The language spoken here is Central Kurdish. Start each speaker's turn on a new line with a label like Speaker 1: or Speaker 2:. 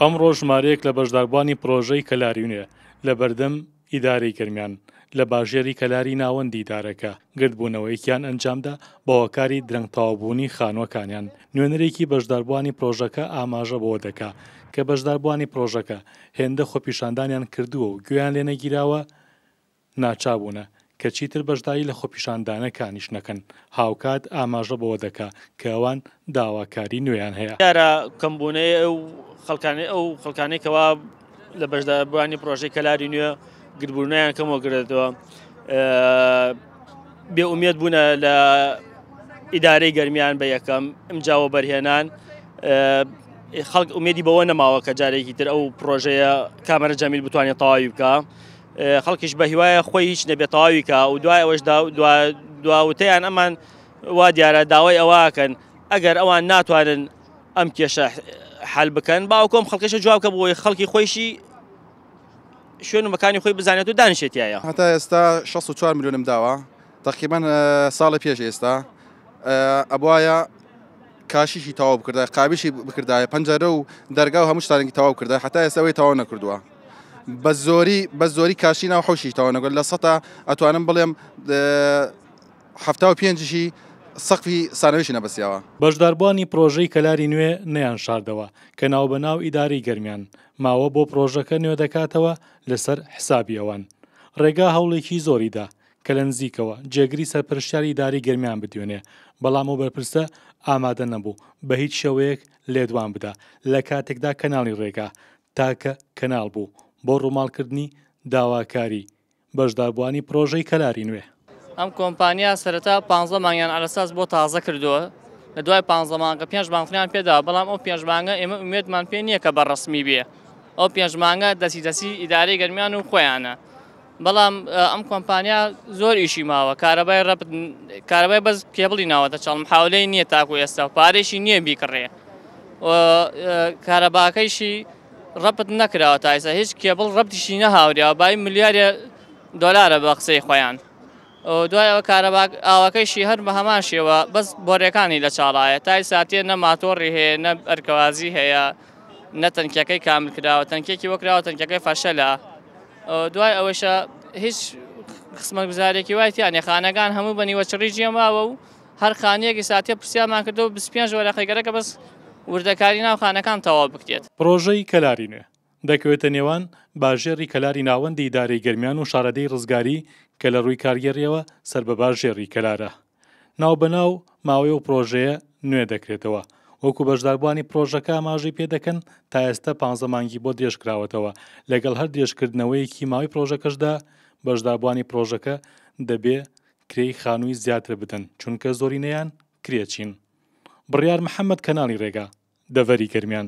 Speaker 1: ئەمڕۆ ژمارەیەک لە بەشداربووانی پڕۆژەی کەلاری نوێ لە بەردەم ئیدارەی گەرمیان لە باژێری کەلاری ناوەندی ئیدارەکە گردبوونەوەیەکیان ئەنجامدا بە هۆکاری درەنگ تەواوبوونی خانووەکانیان. نوێنەرێکی بەشداربووانی پڕۆژەکە ئاماژە بەوە دەکا کە بەشداربووانی پڕۆژەکە هێندە خۆپیشاندانیان کردووە و گوێیان لێنەگیراوە ناچابوونە کە چیتر بەشداری لە خۆپیشاندانەکانیش نەکەن، هاوکات ئاماژە بەوە دەکا کە ئەوان داواکاری نوێیان هەیە.
Speaker 2: دیارە کەمبوونەی ئەو خەڵکانەی ئەو خەڵکانەی کەوا لە بەشداربووانی پرۆژەی کەلاری نوێ گربوونیان کەمەوە گرێتەوە بێ ئومێد بوونە لە ئیدارەی گەرمیان بە یەکەم ئمجا وەبەرهێنان خەڵک ئومێدی بەوە نەماوە کە جارێکی تر ئەو پرۆژەیە کامەرە جەمیل بتوانێت تەواوی بکە. خەڵکیش بە هیوایە خۆی هیچ نەبێت تەواوی کا و دوای ئەوەش دواوتەیان ئەمان وا دیارە داوای ئەوەکەن ئەگەر ئەوان ناتوانن ئەم کێشە حل بکەن باوکۆم خەڵکەشە جواب کە بۆی خەڵکی خۆیشی شوێن و مەکانی خۆی بزانێت و دانیشێتایە.
Speaker 3: هەتا ئێستا 64 ملیۆنم داوە تەقریبەن ساڵی پێش ئێستا ئەبواە کاشیشی تەواو بکردای قابیشی بکردایە پەنجەرە و دەرگا و هەموو شتانێکی تەواو کردای حتا ئێستا ئەوەی تەواو نەکردووە بە زۆری بە زۆری کاشی ناو حوشی تەواو نەکرد لە سەتا ئەتوانم بڵێم 75شی سەقفی سانەویشی نەبەسیاوە.
Speaker 1: بەشداربووانی پرۆژەی کەلاری نوێ نەیانشاردەوە کە ناوبەناو ئیدارەی گەرمیان ماوە بۆ پرۆژەکە نوێدەکاتەوە لەسەر حسابی ئەوان رێگا هەوڵێکی زۆری دا کە لە نزیکەوە جێگری سەرپەرشتیاری ئیدارەی گەرمیان بدوێنێ، بەڵام ئەو بەرپرسە ئامادە نەبوو بە هیچ شێوەیەک لێدوان بدا، لە کاتێکدا کەناڵی رێگا تاکە کەناڵ بوو بۆ رووماڵکردنی داواکاری بەشداربووانی پرۆژەی کەلاری نوێ.
Speaker 2: ئەم کۆمپانیا سەرەتا پانزە مانگیان عەلەساس بۆ تازە کردووە، لە دوای پانزە مانگە پێنج مانگتریان پێداوە، بەڵام ئەو پێنج مانگە ئێمە ئومێدمان پێ نییە کە بە ڕەسمی بێ، ئەو پێنج مانگە دەستی دەستی ئیدارەی گەرمیان و خۆیانە. بەڵام ئەم کۆمپانیا زۆر ئیشی ماوە کارەبای ڕەبت کارەبای بەس کێبڵی ناوەتە چاڵ محاولەی نییە تاکو ئێستا و پارێکی نییە بیکڕێ کارەباکەیشی ڕەبت نەکراوە تا ئێستا هیچ کێبڵ ڕەبتیشی نەهاوریاوە بای ملیارێ دۆلارە بە قسەی خۆیان دوای ئەوە کارەبا ئاوەکەیشی هەر بە هەمان شێوە بەس بۆرەکانی لە چاڵایە تای ساتێ نە ماتۆڕی هەیە نە ئەرکەوازی هەیە نە تەنکیەکەی کامل کراوە تەنکێکی وەکراوە تەنکەکەی فەشەلە دوای ئەوەشە هیچ خزمەتگوزارێکی وای تیا نیە خانەکان هەموو بە نیوەچڕی جێماوە و هەر خانیەکی ساتێ پرسیارمان کردەوە 25 وەرەقەی گەرەکە بەس وردەکاری ناو خانەکان تەواو بکرێت.
Speaker 1: پڕۆژەی کەلاری نوێ دەکەوێتە نێوان باژێڕی کەلاری ناوەندی ئیدارەی گەرمیان و شارەدێی ڕزگاری کە لە ڕووی کارگێڕییەوە سەر بە باژێڕی کەلارە. ناوبەناو ماوەی ئەو پڕۆژەیە نوێ دەکرێتەوە. وەکو بەشداربووانی پڕۆژەکە ئاماژەی پێدەکەن، تا ئێستا پانزە مانگی بۆ درێژکراوەتەوە، لەگەڵ هەر درێژکردنەوەیەکی ماوەی پڕۆژەکەشدا بەشداربووانی پڕۆژەکە دەبێ کرێی خانووی زیاتر بدەن، چونکە زۆرینەیان کرێچین. بڕیار محەمەد کەناڵی رێگا، دەڤەری گەرمیان.